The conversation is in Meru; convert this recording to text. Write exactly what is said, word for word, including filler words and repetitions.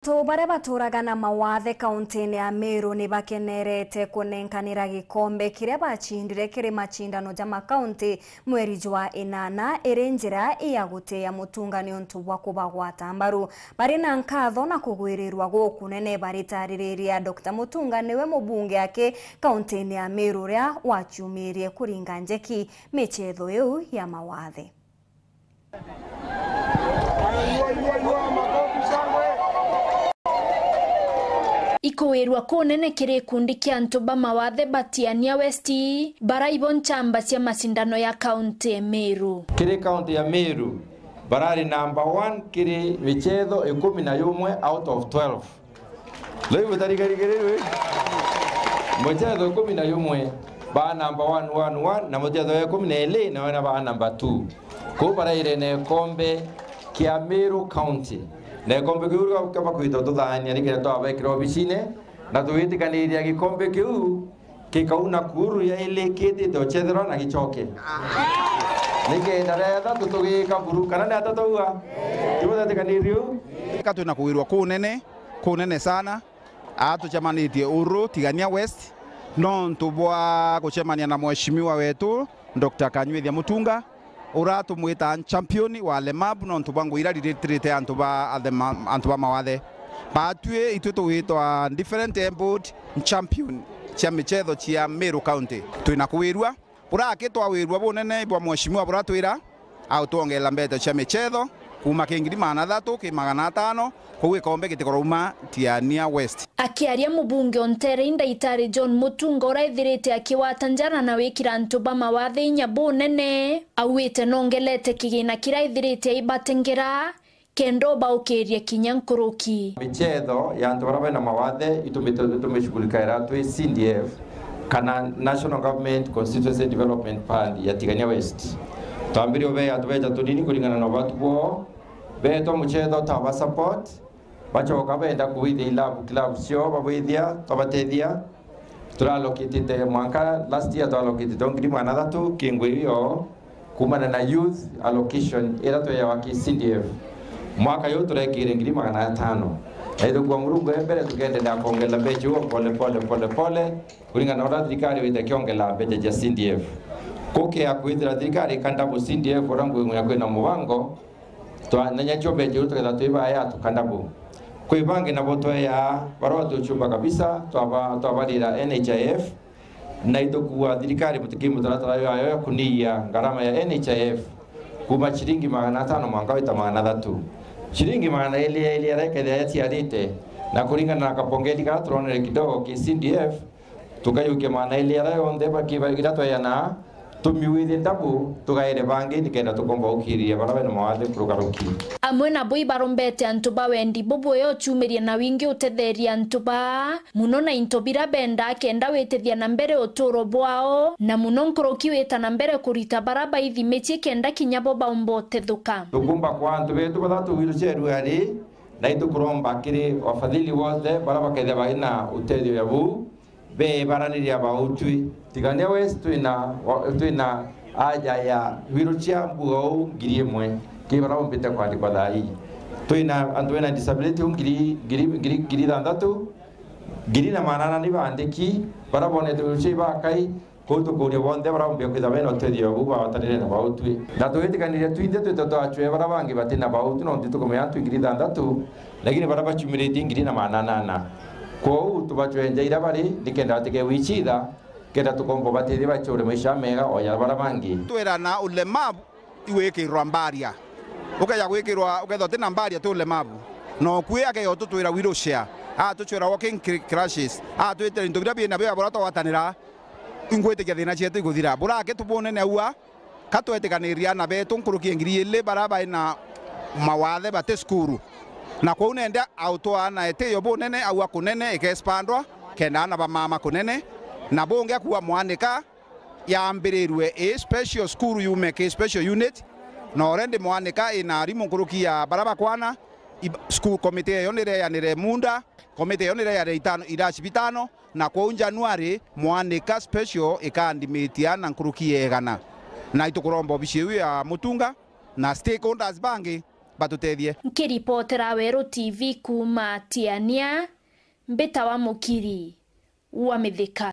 Antu baria baturaga na mawathe kauntine ya Meru ni bakenerete kunenkanira gikombe kiria bacindire kiri macindano ja makaunti mweri jwa inana, iri njira ya gutia Mutunga niuntu bwa kubagwata mbaru. Bari na nkatho na kugwirirwa gukunene baritaririria Doctor Mutunga niwe mubunge aki kauntine ya Meru uria waciumirie kuringa njeki michetho iu ya mawathe. Ikuwirua kunene kiri gikundi kia antu ba mawathe ba Tigania West, bara ibo nchamba cia macindano ya kaunti e Meru. Kiri kaunti ya Meru, barari number one kiri michetho ikumi na yumwe out of twelve. Riu butarigarigirirwe, muchetho ikumi na yumwe ba number one, one, one, na muchetho wa ikumi na ili na wena ba number two. Kuu baraire na ikombe kia Meru County. Na ikombe kiu kaba kwita tuthaania nikenda twabekira obicine, na tugitikaniria gikombe kiu kikau Nakuru ya ili kitite uchetherwa na gicoke. Nikenda ria ithatu tugika buru, kana ni atatauga? Tibutetikanirie u? Ika twina kuwirwa kunene, kunene sana. Aa tucemanitie uru Tigania West, nontu bwa gucemania na mheshimiwa wetu, Doctor Kanyuithia Mutunga, ura tumwita champion wa alemavu, nontu bwa ngugi iria riritire antu ba athema-, antu ba mawathe. Batwi itwi tugwitwa different abled champion cia michetho cia Meru County. Twina kuwirua, buraki twawirua bunene bwa mheshimiwa buratwira, autwongera mbeto cia michetho kuuma ki ngiri magana athatu ki magana atano, kou gikombe gitikorauma Tigania West. Akiaria mubunge o nteere i Ndaitari John Mutunga, ura ethirite akiwata njara na wikira antu ba mawathe inya bunene, auite nongelete kigina kiria ethirite aibatengera, kenda ubaukiria kinya nkuruki. Michetho ya antu baria bena mawathe itumite-, itumicugurikaira twi C D F, kana National Government Constituency Development Fund ya Tigania West. Twambirie ubea tubecha tunini kuringana na ubatu bwoo, beetwa muchetho twaba support, bachoka benda kubwithia ilabu, club cio babwithia, twabatethia. Turalokitite mwanka last year, twalokitite o ngiri magana athatu ki ngui iyo, kumana na youth allocation ira tweyawa ki C D F. Mwaka uyu turekire ngiri magana atano. Na ithukua Murungu e mbere, tukendelea kuongerera mbecha iu pole pole, pole pole, kuringana na uria thirikari wite kiongela mbecha cia C D F. Kukea kwithira thirikari ikandabu C D F uria ngui ya kwina mubango, twa-, na nyacio mbecha iu tuketha twibaya tukandabu. Kwi bangi nabo tweyaa barua tuchumba kabisa, twaba-, twabarira N H I F, na itukua thirikari mutuki mutaratara yayo ya kuniia ngarama ya N H I F kuma ciringi magana atano mwanka wita magana athatu. Ciringi magana ili ya ili arekethia yaciarite, na kuringana na kabongeli karia turonere kidogo ki C D F, tukayukia magana ili aria yonthe bakiba iria tweyana, tumiwithie ndabu, tugaire bangi nikenda tukomba ukiria baria bena mawathe kurukaruki. Amwe nabo ibarombete antu ba wendi bubwe uciumirie na wingi utetheria antu baa, muno na into biria bendaa kenda witithia na mbere uturo bwao, na muno nkuruki wita na mbere kurita baria baithi micii kenda kinya bo baumba utethuka. Tukumba kwa antu betu bathatu wheelchair ari, na itukuromba kiri wafadhili wonthe baria bakethia baina utethio ya buu, beebaraniria bautwi. Tigania West twina, twina aja ya wheelchair mbugau ngiri imwe ki baria bombite kwandikwa thaa ii. Twina antu bena disability u ngiri, ngiri, ngiri, ngiri ithanthatu, ngiri na manana ni baandiki, baria bonete wheelchair ibakai, kou tukuria bonthe baria bombia kwithirwa bena utethio buu bawatanire na bautwi. Na twitikaniria twinthe twite twachwe baria bangi batina bautwi, nontu tukumenya antu ngiri ithanthatu, lakini baria bachumiritie ngiri na manana ana. Kwou tubachwe nja iria bari, nikenda batike wichitha, kenda tukomba batethia bachure maisha mega o ja baria bangi. Twirana ulemavu igwikirwa mbaria. Ukeja gwikirwa, ukethwa utina mbaria ti ulemavu. Na ukui akeja ututwira wheelchair, atuchwira walking cr-, crutches, atwitira into biria bina bio bura twatanira, ingwitikia thina cietu iguthira. Burake tubunene aua, ka twetikaniria ana betu nkuruki ya ngiri ili baria bai na mawathe bati cukuru. Na kwou nenda autwaa na itiyo bunene, aua kunene ikespandwa, kenda ana ba mama kunene, na bungi akua mwanika yambirirwe i special school yume ki special unit, na already mwanika ina arimu nkuruki ya baria bakwana, ib-, school committee eyo nireyanire munda, committee eyo nireyanire itano, iraci bitano, na kwou January mwanika special ikandimitia na nkuruki ya igana. Na itukuromba obici iu ya Mutunga na stakeholders bangi batutethie. Nkiripotera Weru T V kuuma Tiania, mbitawa Mukiri wa Mithika.